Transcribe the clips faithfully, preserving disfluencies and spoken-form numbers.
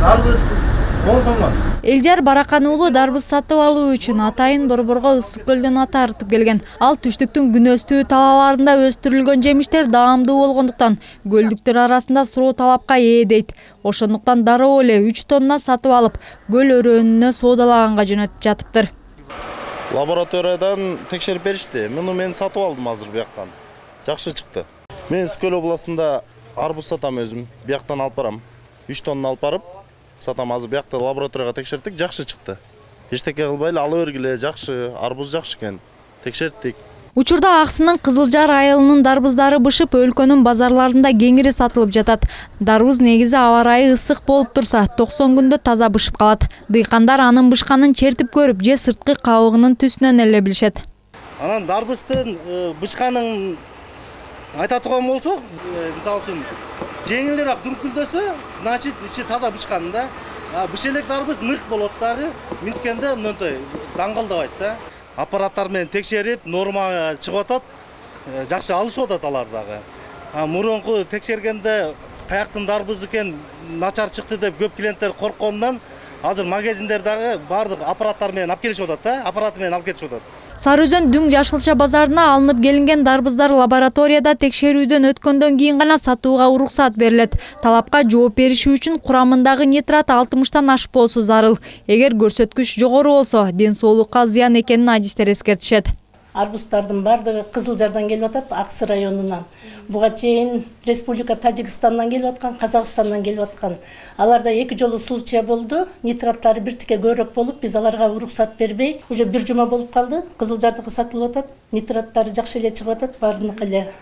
Дарбыз он сомдон. Элдияр Баракан уулу дарбыз сатып алуу үчүн атайын Борборго Ысык көлдөн ат артып келген. Ал түштүктүн күнөстүү талааларында өстүрүлгөн жемиштер даамдуу болгондуктан көлдүктөр арасында суроо талапка ээ дейт. Ошондуктан дароо эле үч тонна сатып алып, көл өрөөнүнө соодалаганга жөнөтүп жатыптыр. Лабораториядан текшерип беришти. Муну мен сатып алдым азыр бияктан. Жакшы чыкты. Мен Ысык областында арбуз сатам өзүм. Бияктан алып барам. үч тонна алып барып сатам. Азыр биякта лабораторияга текшерттик, жакшы чыкты. Эчтеке кылбай эле ала бергиле, жакшы, арбуз жакшы экен. Текшерттик. Учурда Аксынын Кызылжар айылынын дарбыздары бышып, өлкөнүн базарларында кеңири сатылып жатат. Дарбыз негизи аба ырайы ысык болуп турса, токсон күндө таза бышып калат. Дыйкандар анын бышканын чертип көрүп, же сырткы кабыгынын түсүнөн эле билишет. Анан дарбыздын бышканын айта турган болсок, мисалы үчүн жеңилирээк дүркүлдөсө, значит ичи таза бышкан да. Быш элек дарбыз нык болот дагы, минткенде мындай даңгылдабайт да. Аппараттар менен текшерип, нормага чыгып атат, жакшы алышып атат алар дагы. Мурунку текшергенде каяктын дарбыз экен начар чыкты деп көп клиенттер коркконунан азыр магазиндер дагы бардык аппараттар менен алып келишип атат да, аппараты менен алып келишип атат. Сары Өзөн Дүң Жашылча базарына алынып келинген дарбыздар лабораторияда текшерүүдөн өткөндөн кийин гана сатууга уруксат берилет. Талапка жооп бериши үчүн курамындагы нитрат алтымыштан ашпоосу зарыл. Эгер көрсөткүч жогору болсо, ден соолукка зыян экенин адистер эскертишет. Арбуздардын бардыгы Кызылжардан келип атат, Аксы районунан. Буга чейин Республика Тажикстандан келип аткан, Казакстандан келип аткан. Аларда эки жолу случай болду. Нитраттары биртике көбүрөөк болуп, биз аларга уруксат бербей, уже бир жума болуп калды. Кызылжардыкы сатылып атат. Нитраттары жакшы эле чыгып атат, баарыныкы эле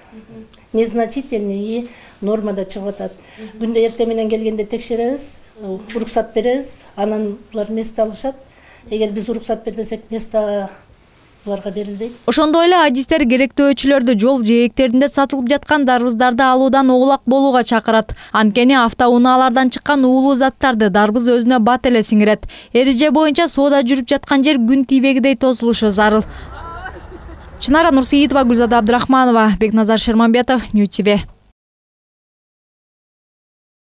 незначительный и нормада чыгып атат. Күндө эртең менен келгенде текшеребиз, уруксат беребиз, анан булар место алышат. Эгер биз уруксат бербесек, место Ошондой эле адистер керектөөчүлөрдү жол жээктеринде сатылып жаткан дарбыздарды алуудан оолак болууга чакырат. Анткени автоунаалардан чыккан уулуу заттарды дарбыз өзүнө бат эле сиңирет. Эреже боюнча соода жүрүп жаткан жер күн тийбегидей тосулушу зарыл. Чынара Нурсейитова, Гүлзада Абдрахманова, Бекназар Шерманбетов, Нью ти ви.